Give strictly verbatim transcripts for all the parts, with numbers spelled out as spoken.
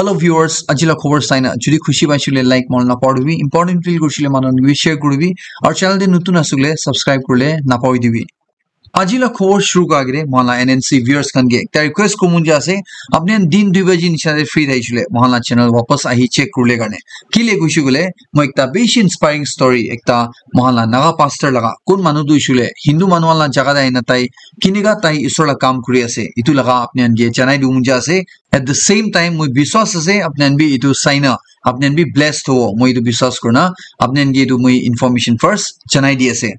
Hello viewers, aji la khobor saina jodi khushi paisile like manu napahoribi, important feel kurisile manu khan ke share kuribi, aru channel te notun asile subscribe kurile napahoribi. Aji la khobor shuru kura agere mohan la N N C viewers khan ke ekta request kuribo mon jai ase, apni khan din dui baji nisina te free thaisile mohan la channel wapas ahi check kurile karne. Kile kuishe koile moi ekta bishi inspiring story ekta mohan la Naga pastor laga, kun manu tu hoishe koile Hindu manu khan la jaga te ahina tai kinika tai Isor la kam kuri ase, etu laga apni khan ke janai dibo mon jai ase. At the same time, moi biswas ase apni khan bi etu saina apni khan bi blessed hobo, moi etu biswas kurina apni khan ke etu moi information first janai di ase.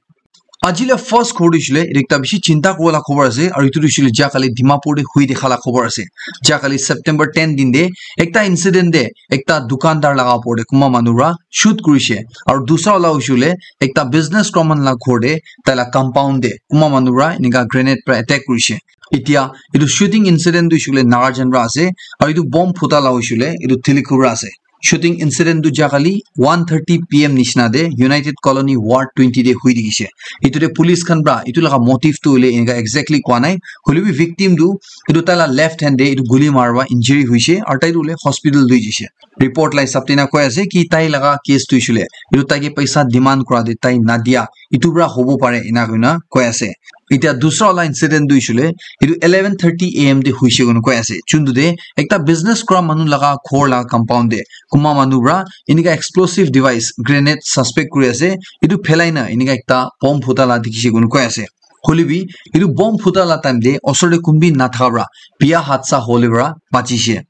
Aji la first khobor tu hoishe koile etu ekta bishi chinta kuribo la khobor ase, aru etu tu hoishe koile jia kali Dimapur te hui dikha la khobor ase. Jia kali September ten din te ekta incident te ekta dukandar laga opor te kunba manu para shoot kurishe, aru dusra wala hoishe koile ekta business kura manu la ghor te tai la compound te kunba manu para enika grenade para attack kurishe. Etia etu shooting incident tu hoishe koile Nagarjan para ase, aru etu bomb phuta la hoishe koile etu Tilikhur para ase. Shooting incident tu jia kali one thirty P M nisina te United Colony Ward twenty te hui dikhishe. Etu te police khan para etu laga motive tu hoile enika exactly koa nai, hoile bi victim tu etu tai la left hand te etu guli mara para injury hoishe aru tai tu hoile hospital lui jaishe. Report la hisab te ena koi ase ki tai laga case tu hoishe koile etu tai ke paisa demand kura te tai nadia, etu para hobo pare ena koina koi ase. Etia dusra wala incident tu hoishe koile etu eleven thirty A M te hoishe koina koi ase, juntu te ekta business kura manu laga ghor laga compound te kunba manu para enika explosive device grenade suspect kuri ase, etu phelai na enika ekta bomb phuta la dikhishe koina koi ase. Hoile bi etu bomb phuta la time te osor te kun bi nathaka para biya hadsa hole para bachishe.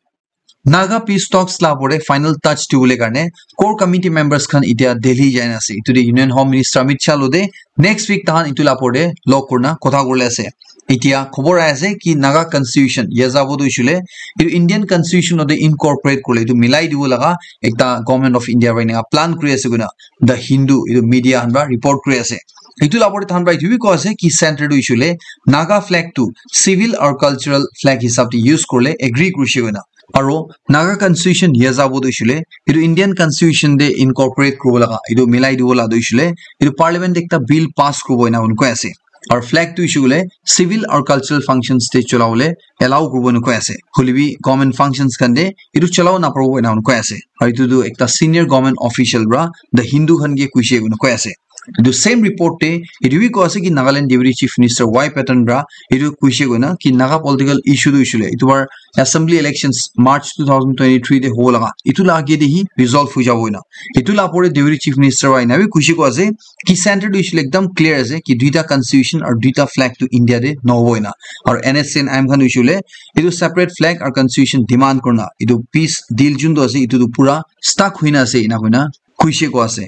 Naga peace talks la opor te final touch dibole karne core committee members khan etia Delhi jai na ase. Etu te Union Home Minister Amit Shah lo te next week tahan etu la opor te log kurina kotha kurile ase. Etia khobor ahi ase ki Naga constitution ya jabo tu hoishe koile etu Indian constitution lo te incorporate kurile etu milai dibo laga ekta Government of India para enika plan kuri ase koina The Hindu etu media khan para report kuri ase. Etu la opor te tahan para etu bi koi ase ki center tu hoishe koile Naga flag tu civil aru cultural flag hisab te use kurile agree kurishe koina. Aru Naga constitution ya jabo tu hoishe koile etu Indian constitution te incorporate kuribo laga etu milai dibo la tu hoishe koile etu parliament te ekta bill pass kuribo ena koi ase. Aru flag tu hoishe koile civil aru cultural functions te cholabole allow kuribo ena koi ase. Hoile bi government functions khan te etu cholabo naparibo ena koi ase. Aru etu tu ekta senior government official para The Hindu khan ke koishe koina koi ase. Etu same report te etu bi koi ase ki Nagaland Deputy Chief Minister Y Patton para etu koishe koina ki Naga political issue tu hoishe koile etu bar assembly elections March two thousand twenty-three te hobo laga etu la age te hi resolve hoi jabo koina. Etu la opor te Deputy Chief Minister para ena bi koishe koi ase ki center tu hoishe koile ekdam clear ase ki duita constitution aru duita flag tu India te nohobo koina. Aru N S C N I M khan hoishe koile etu separate flag aru constitution demand kurina etu peace deal juntu ase etu tu pura stuck hoina ase ena koina koishe koi ase.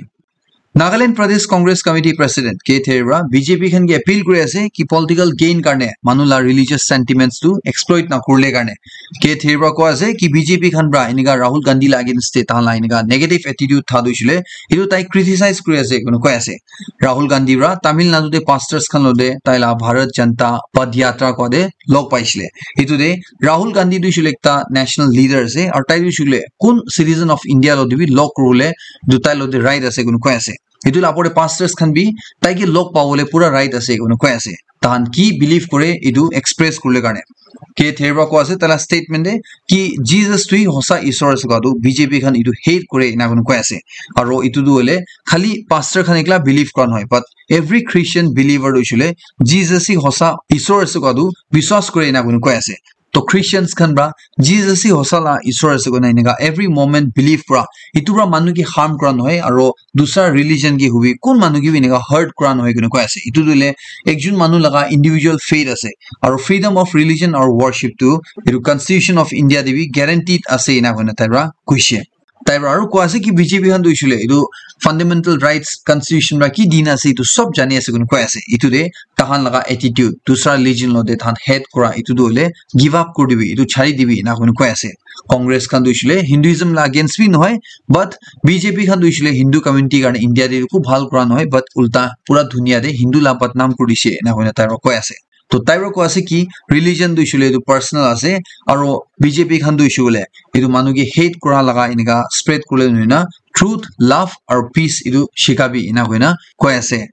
Nagaland Pradesh Congress Committee President K Theriba B J P khan ke appeal kuri ase ki political gain karne manu la religious sentiments tu exploit na kurile karne. K Theriba koi ase ki B J P khan para enika Rahul Gandhi la against te tahan la enika negative attitude tha tu hoishe koile etu tai criticize kuri ase koina koi ase. Rahul Gandhi para Tamil Nadu te pastors khan lo te tai la Bharat Janata Padh Yatra koi te log paishe koile. Etu te Rahul Gandhi tu hoishe koile ekta national leader ase aru tai tu hoishe koile kun citizen of India lo te bi log kuribole etu tai lo te right ase koina koi ase. Etu la opor te pastors khan bi tai ke log pabole pura right ase koina koi ase. Tahan ki believe kore etu express kurile karne. K Theriba koi ase tai la statement te ki Jesus tu hi hosa Isor ase koa tu B J P khan etu hate kore ena koina koi ase. Aru etu tu hoile khali pastor khan ekla believe kura nohoi, but every Christian believer tu hoishe koile Jesus hi hosa Isor ase koa tu biswas kore ena koina koi ase. To Christians khan para Jesus hi hosa la Isor ase koina enika every moment believe kura, etu para manu ke harm kura nohoi aru dusra religion ke hobi kun manu ke bi enika hurt kura nohoi koina koi ase. Etu tu hoile ekjon manu laga individual faith ase aru freedom of religion aru worship tu etu Constitution of India te bi guaranteed ase ena koina tai para koishe. Tai para aru koi ase ki B J P khan tu hoishe koile etu fundamental rights constitution para ki dina ase etu sob jani ase koina koi ase. Etu te tahan laga attitude dusra religion lo te tahan hate kura etu tu hoile give up kuri dibi, etu chari dibi ena koina koi ase. Congress khan tu hoishe koile Hinduism la against bi nohoi, but B J P khan tu hoishe koile Hindu community karne India te eku bhal kura nohoi, but ulta pura dunia te Hindu la badnam kuri dishe ena koina tai para koi ase. To tai para koi ase ki religion tu hoishe koile etu personal ase, aru B J P khan tu hoishe koile etu manu ke hate kura laga enika spread kurile nohoi na truth, love aru peace etu shikabi ena koina koi ase.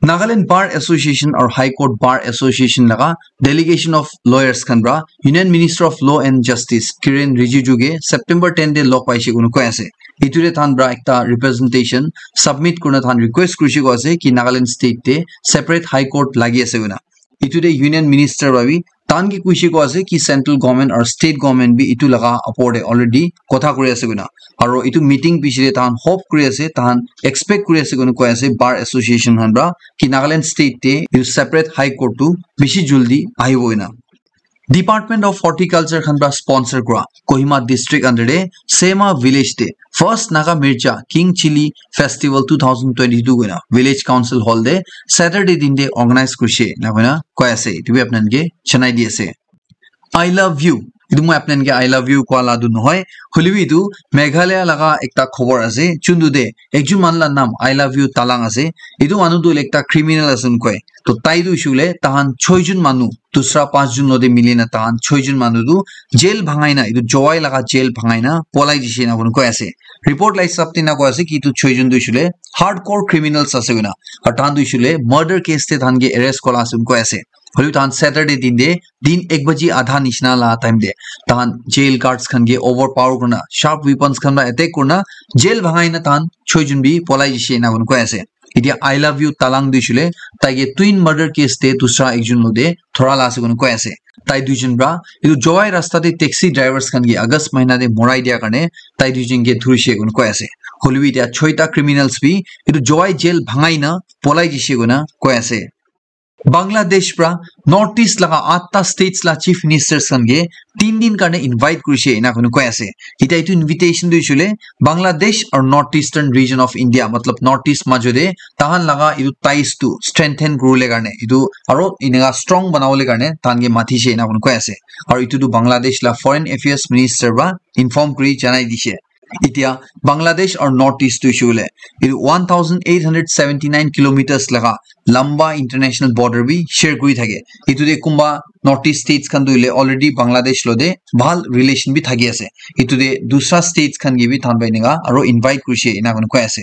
Nagaland Bar Association or High Court Bar Association laga delegation of lawyers khan pra Union Minister of Law and Justice Kiren Rijiju ke September ten te log paise koina koi ase. Itu te than pra ekta representation submit kurina than request kurise koi ase ki Nagaland state te separate high court lagi ase koina. Itu te Union Minister pra bi than ki kuise koi ase ki central government or state government bi itu laga upor te already kotha kuri ase koina. Aro itu meeting piche te than hope kuri ase, than expect kuri ase koina koi ase Bar Association khan pra ki Nagaland state te itu separate high court tu bishi juldi ahibo koina. Department of Horticulture khan pra sponsor kura Kohima district under te Sema village te first Naga Mircha King Chilli Festival two thousand twenty-two koina village council hall te Saturday din te organize kurise na koina koi ase. Itu bi apnan ke janai di ase. I love you. Itu moi apnan ke I love you koa la tu nohoi. Hoilebi itu Meghalaya laga ekta khobor ase. Chundu de ekjun man la nam I love you Talang ase. Itu manu tu ekta criminal ase koi. To tai tu shule tahan choi jun manu, dusra panch jun lode mili na tahan choi jun manu tu jail bhangai na, itu Jowai laga jail bhangai na polai jise na koi ase. Report la hisab te na koi ase ki itu choi jun tu shule hardcore criminals ase koina. Aru tahan tu shule murder case te tahan ke arrest kola ase koi ase. Hoilebi tahan Saturday din de din ek baji adha nishina la time te tahan jail guards khan ke overpower kurna, sharp weapons khan pra attack kurna jail bhangai na tahan choi jun bi polai jise na koi ase. Itya I love you Talang tu shule tai ke twin murder case te dusra ekjun lode thora la ase koi ase. Tai duijun pra itu Jowai rasta te taxi drivers khan ke August mahina te morai dia karne tai duijun ke dhurise koi ase. Hoilebi itya choita criminals bi itu Jowai jail bhangai na polai jise koina koi ase. Bangladesh pra North East laga atta states la chief ministers khan ke tin din karne invite kurise ena koi koi ase. Itya itu invitation tu shule Bangladesh or North Eastern region of India, matlab North East majo de tahan laga itu ties tu strengthen kurule karne itu aro inega strong banawole karne tahan ke mathise ena koi koi ase. Aro itu tu Bangladesh la foreign affairs minister pra inform kuri janai dise. Itya Bangladesh or North East tu shule itu one thousand eight hundred seventy nine kilometers laga lamba international border bi share kuri thake. Itu de kumba North East states khan tu ile already Bangladesh lode bhal relation bi thaki ase. Itu de dusra states khan ke bi than bai nega aro invite kurise ena koi koi ase.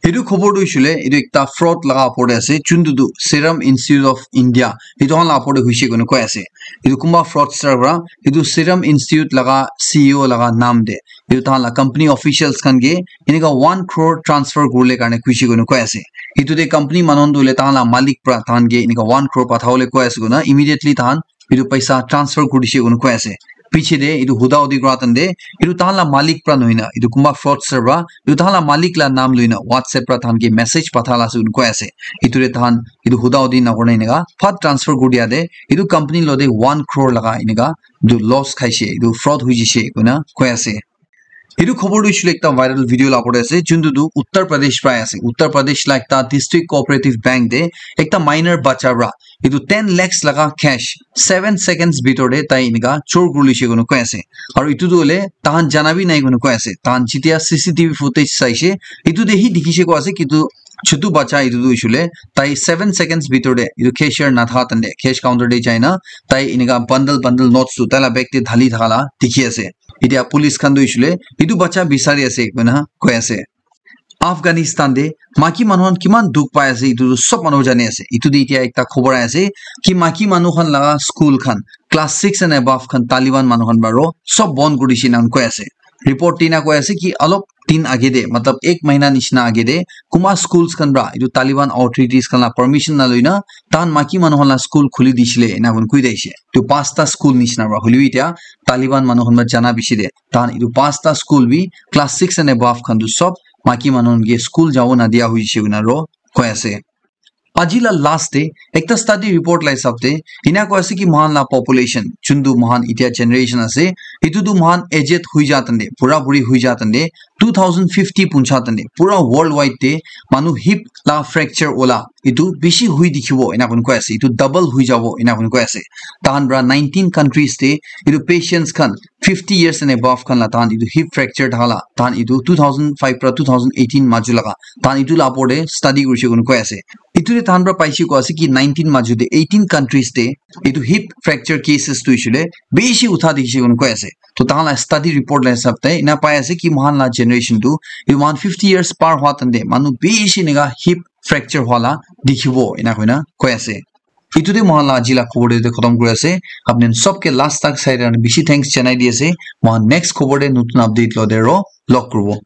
Itu khobor tu shule itu ekta fraud laga upor te ase, chuntu tu Serum Institute of India itu khan la upor te huise koi koi ase. Itu kumba fraudster pra itu Serum Institute laga C E O laga nam de itu tahan la company officials khan ke enika one crore transfer kurle karne kuise koi koi ase. Itu de company manu tu le tahan la malik pra tahan ke enika one crore pathabole koi ase koina immediately tahan itu paisa transfer kuri dise koi koi ase. Piche de itu huda hudi kura time de itu tahan la malik pra nohoi na itu kumba fraudster pra itu tahan la malik la nam loi na WhatsApp pra tahan ke message patha la ase koi ase. Itu de tahan itu huda hudi na kuri na enika phat transfer kuri dia de itu company lode one crore laga enika itu loss khaise, itu fraud hoi jise koina koi ase. Itu khobor tu shule ekta viral video la upor te ase, chuntu tu Uttar Pradesh pra ase. Uttar Pradesh la ekta district cooperative bank de ekta minor bacha pra itu ten lakhs laga cash seven seconds bitor de tai enika chor kuri lise koi koi ase. Aro itu tu hole tahan jana bi nai koi koi ase. Tahan jitia C C T V footage saise, itu de hi dikhise koi ase ki itu chutu bacha itu tu shule tai seven seconds bitor de itu cashier natha time de cash counter de jaina tai enika bundle bundle notes tu tai la bag te dhali thaka la dikhi ase. Itya police khan tu shule itu bacha bisari ase koina koi ase. Afghanistan de maki manu khan kiman dukh pai ase itu tu sob manu jani ase. Itu de itya ekta khobor ahi ase ki maki manu khan laga school khan class six and above khan Taliban manu khan baro sob bon kuri dise ena koi ase. Report te ena koi ase ki alop din age de, matlab ek mahina nishina age de, kuma schools khan pra itu Taliban authorities khan la permission na loina tahan maki manu khan la school khuli disile ena koi koi daise. Itu pasta school nishina pra hoilebi itya Taliban manu khan pra jana bishi de tahan itu pasta school bi class six and above khan tu sob maki manu khan ke school jabo na dia hoise koina aro koi ase. Aji la last te ekta study report la hisab te ena koi ase ki mohan la population, chuntu mohan itya generation ase, itu tu mohan aged hui ja time de, bura buri hui ja time de, two thousand fifty puncha time de pura worldwide te manu hip la fracture ola itu bishi hui dikhibo ena koi koi ase. Itu double hui jabo ena koi koi ase. Tahan pra nineteen countries te itu patients khan fifty years and above khan la tahan itu hip fracture thaka la tahan itu two thousand five pra two thousand eighteen majo laga tahan itu la upor de study kurise koi koi ase. Itu de tahan pra paise koi ase ki nineteen majo de eighteen countries de itu hip fracture cases tu shule bishi utha dikhise koi koi ase. To tahan la study report la hisab te ena pai ase ki mohan la generation tu itu mohan fifty years par hua time de manu bishi enika hip fracture hwala dikhibo ena koina koi ase. Itu te mohan la aji la khobor te khotom kuri ase. Apni sob ke last tak sai rana bishi thanks janai di ase. Mohan next khobor te notun update lo de ro log kuribo.